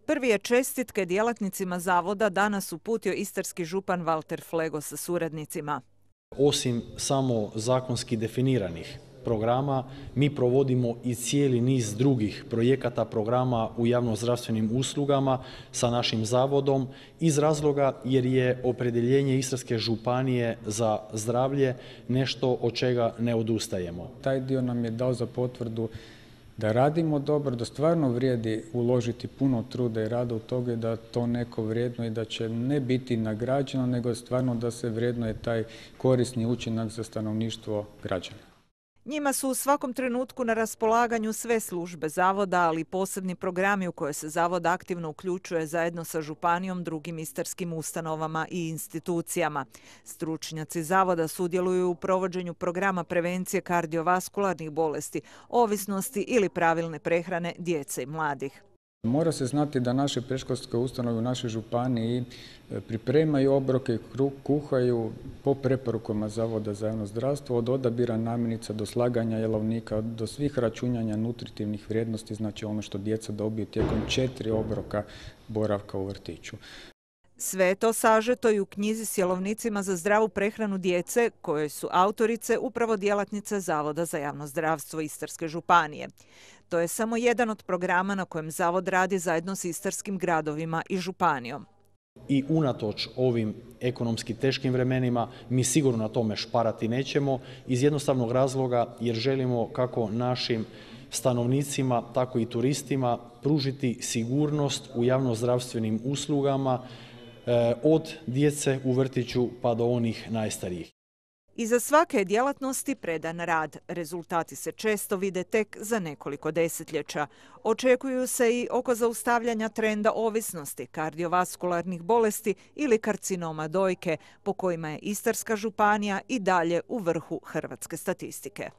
Prvi je čestitke djelatnicima zavoda danas uputio istarski župan Valter Flego sa suradnicima. Osim samo zakonski definiranih programa, mi provodimo i cijeli niz drugih projekata, programa u javnozdravstvenim uslugama sa našim zavodom iz razloga jer je opredjeljenje Istarske županije za zdravlje nešto od čega ne odustajemo. Taj dio nam je dao za potvrdu da radimo dobro, da stvarno vrijedi uložiti puno truda i rada u toga i da to neko vrijedno i da će ne biti nagrađeno, nego stvarno da se vrijednuje taj korisni učinak za stanovništvo građana. Njima su u svakom trenutku na raspolaganju sve službe zavoda, ali i posebni programi u koje se zavod aktivno uključuje zajedno sa županijom, drugim istarskim ustanovama i institucijama. Stručnjaci zavoda sudjeluju u provođenju programa prevencije kardiovaskularnih bolesti, ovisnosti ili pravilne prehrane djece i mladih. Mora se znati da naše predškolske ustanove u našoj županiji pripremaju obroke, kuhaju po preporukama Zavoda za javno zdravstvo, od odabira namirnica do slaganja jelovnika, do svih računanja nutritivnih vrijednosti, znači ono što djeca dobiju tijekom 4 obroka boravka u vrtiću. Sve je to sažeto i u knjizi s jelovnicima za zdravu prehranu djece, koje su autorice upravo djelatnice Zavoda za javno zdravstvo Istarske županije. To je samo jedan od programa na kojem zavod radi zajedno s istarskim gradovima i županijom. I unatoč ovim ekonomski teškim vremenima mi sigurno na tome šparati nećemo iz jednostavnog razloga jer želimo kako našim stanovnicima, tako i turistima pružiti sigurnost u javnozdravstvenim uslugama od djece u vrtiću pa do onih najstarijih. Iza svake djelatnosti predan rad. Rezultati se često vide tek za nekoliko desetljeća. Očekuju se i oko zaustavljanja trenda ovisnosti, kardiovaskularnih bolesti ili karcinoma dojke, po kojima je Istarska županija i dalje u vrhu hrvatske statistike.